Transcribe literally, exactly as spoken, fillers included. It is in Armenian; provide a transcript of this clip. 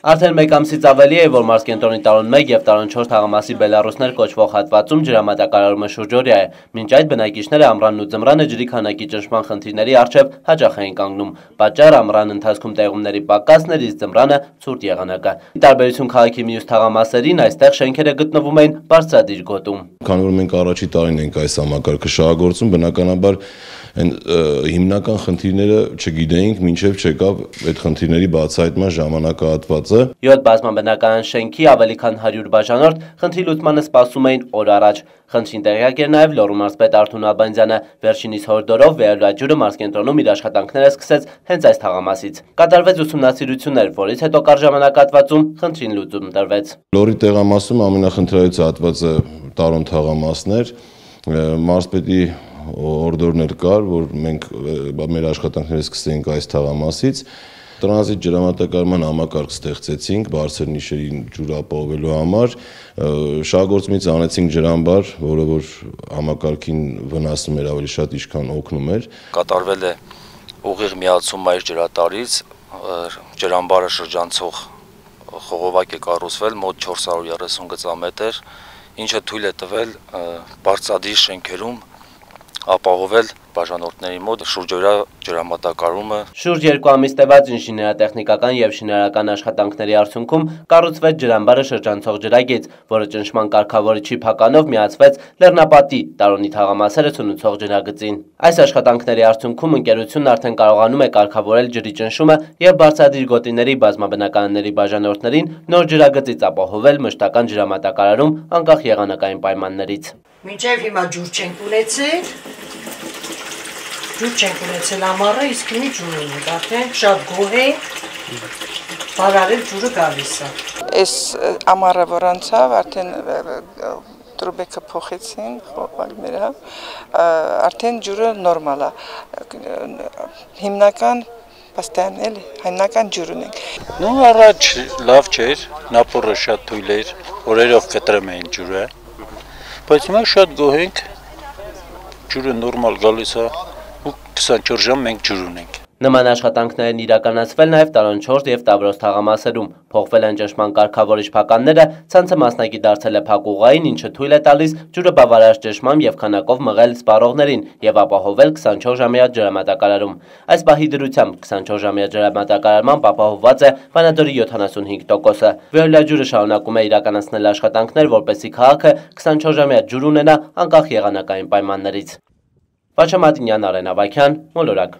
Արդեն մեկ ամսից ավելի է, որ մարզկենտրոնի տարուն մեկ և տարուն չորս թաղամասի Բելառուսներ կոչվող հատվածում ջրամատակարարումը շուրջօրյա է։ Մինչ այդ բնակիչները ամռանն ու ձմռանը ջրի քանակի ճնշման խնդիրների առջև հաճախ էին կանգնում։ Պատճառ ամռան ընթացքում տեղումների պակասն էր, իսկ ձմռանը ցուրտ եղանակը։ Ի տարբերություն քաղաքի մյուս թաղամասերին, այստեղ շենքերը գտնվում էին բարձրադիր գոտում։ Քանի որ մենք առաջի տարին ենք այս համակարգը շահագործում, բնականաբար հիմնական խնդիրները չգիտեինք, մինչև չեկավ այդ խնդիրների բացահայտման ժամանակահատվածը։ յոթ բազմաբնակարան շենքի ավելի քան հարյուր բաժանորդ խնդրի լուծմանը սպասում էին օր առաջ։ Խնդրին տեղյակ էր նաև Լոռու մարզպետ Արթուր Ալբանդյանը։ Վերջինիս հորդորով վերելուաջուրը մարզկենտրոնում իր աշխատանքները սկսեց հենց այս թաղամասից։ Կատարվեց ուսումնասիրություններ, որից հետո կարճ ժամանակահատվածում խնդրին լուծում տրվեց։ Լոռի տեղամասում ամենախնդրայից հատվածը տարուն թաղամասն էր։ Մարզպետի հորդորն էր կար, որ մենք մեր աշխատանքները սկսենք այս թաղամասից։ Տրանզիտ ջրամատակարարման համակարգ ստեղծեցինք բարձր նիշերին ջուր ապահովելու համար, շահագործումից անեցինք ջրամբար, որը որ համակարգին վնասում էր ավելի շատ, ինչքան օգնում էր։ Կատարվել է ուղիղ միացում այդ ջրատարից, ջրամբարը շրջանցող խողովակ է կառուցվել մոտ չորս հարյուր երեսուն գծամետր, ինչը թույլ է տվել բարձրադիր շենքերում ապահովել բաժանորդների մոտ շուրջօրյա ջրամատակարարումը։ Շուրջ երկու ամիս տևած ինժեներատեխնիկական և շինարարական աշխատանքների արդյունքում կառուցվեց ջրամբարը շրջանցող ջրագիծ, որը ճնշման կարգավորիչի փականով միացվեց Լեռնապատի տարոնի թաղամասերը ցնուցող ջրագծին։ Այս աշխատանքների արդյունքում ընկերությունն արդեն կարողանում է կարգավորել ջրի ճնշումը և բարձրադիր գոտիների բազմաբնակարանների բաժանորդներին նոր ջրագծից ապահովել մշտական ջրամատակարարում անկախ եղանակային պայմաններից։ Մինչև հիմա ջուր չենք ունեցել, ջուր չենք ունեցել ամառը, իսկ հիմի ջուր ունենք, արդեն շատ գոհ ենք, բարարել ջուրը գալիս է։ Այս ամառը որ անցավ, արդեն տրուբեկը փոխեցին, խողովակները, արդեն ջուրը նորմալ է, հիմնական պաստան էլի, հիմնական ջուր ունենք։ Ну առաջ լավ չէր, նապորը շատ թույլ էր, օրերով կտրում էին ջուրը, բայց հիմա շատ գոհ ենք, ջուրը նորմալ գալիս է ու քսանչորս ժամ մենք ջուր ունենք։ Նման աշխատանքներն իրականացվել նաև տարուն չորս և Տավրոս թաղամասերում։ Փոխվել են ճնշման կարգավորիչ փականները, ցանցը մասնակի դարձել է փակուղային, ինչը թույլ է տալիս ջուրը բավարար ճնշմամբ և քանակով մղել սպառողներին և ապահովել քսանչորս ժամյա ջրամատակարարում։ Այս պահի դրությամբ քսանչորս ժամյա ջրամատակարարմամբ ապահովված է Վանաձորի յոթանասունհինգ տոկոսը։ Վերելուաջուրը շարունակում է իրականացնել աշխատանքներ, որպեսզի քաղաքը քսանչորս ժամյա ջուր ունենա անկախ եղանակային պայմաններից։ Վաչա Մատինյան, Արեն Ավագյան, Մոլորակ։